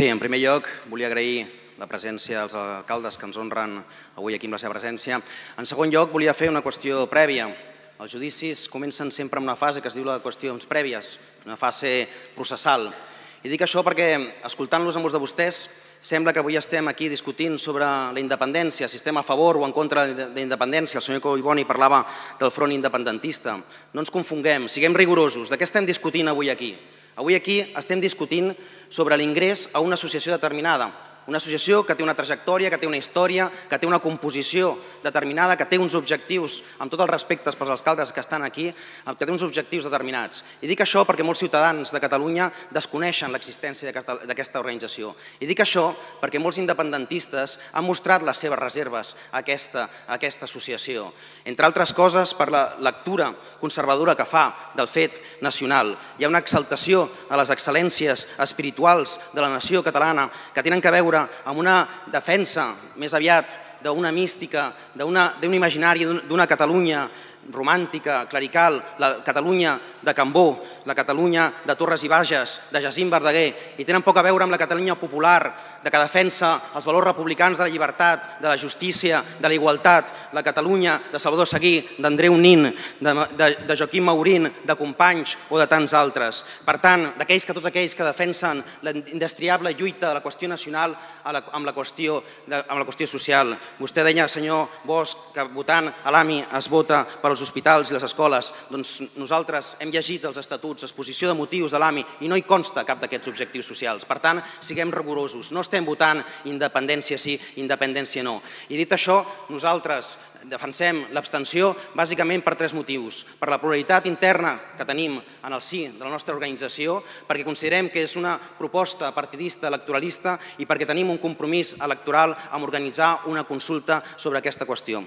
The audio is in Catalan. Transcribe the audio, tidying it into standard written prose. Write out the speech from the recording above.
Sí, en primer lloc, volia agrair la presència dels alcaldes que ens honren avui aquí amb la seva presència. En segon lloc, volia fer una qüestió prèvia. Els judicis comencen sempre amb una fase que es diu la de qüestions prèvies, una fase processal. I dic això perquè, escoltant-los a molts de vostès, sembla que avui estem aquí discutint sobre la independència, si estem a favor o en contra de la independència. El senyor Collboni parlava del front independentista. No ens confonguem, siguem rigorosos. De què estem discutint avui aquí? Avui aquí estem discutint sobre l'ingrés a una associació determinada. Una associació que té una trajectòria, que té una història, que té una composició determinada, que té uns objectius, amb tots els respectes pels alcaldes que estan aquí, que té uns objectius determinats. I dic això perquè molts ciutadans de Catalunya desconeixen l'existència d'aquesta organització. I dic això perquè molts independentistes han mostrat les seves reserves a aquesta associació. Entre altres coses, per la lectura conservadora que fa del fet nacional. Hi ha una exaltació a les excel·lències espirituals de la nació catalana que tenen que veure amb una defensa més aviat d'una mística, d'un imaginari, d'una Catalunya romàntica, clerical, la Catalunya de Cambó, la Catalunya de Torres i Bages, de Jacint Verdaguer, i tenen poc a veure amb la Catalunya popular, de que defensa els valors republicans de la llibertat, de la justícia, de la igualtat, la Catalunya de Salvador Seguí, d'Andreu Nin, de Joaquim Maurín, de Companys o de tants altres. Per tant, tots aquells que defensen la indestriable lluita de la qüestió nacional amb la qüestió social. Vostè deia, senyor Bosch, que votant a l'AMI es vota per als hospitals i les escoles. Doncs nosaltres hem llegit els estatuts, l'exposició de motius de l'AMI, i no hi consta cap d'aquests objectius socials. Per tant, siguem rigorosos. No estem votant independència sí, independència no. I dit això, nosaltres defensem l'abstenció bàsicament per tres motius. Per la pluralitat interna que tenim en el si de la nostra organització, perquè considerem que és una proposta partidista electoralista i perquè tenim un compromís electoral amb organitzar una consulta sobre aquesta qüestió.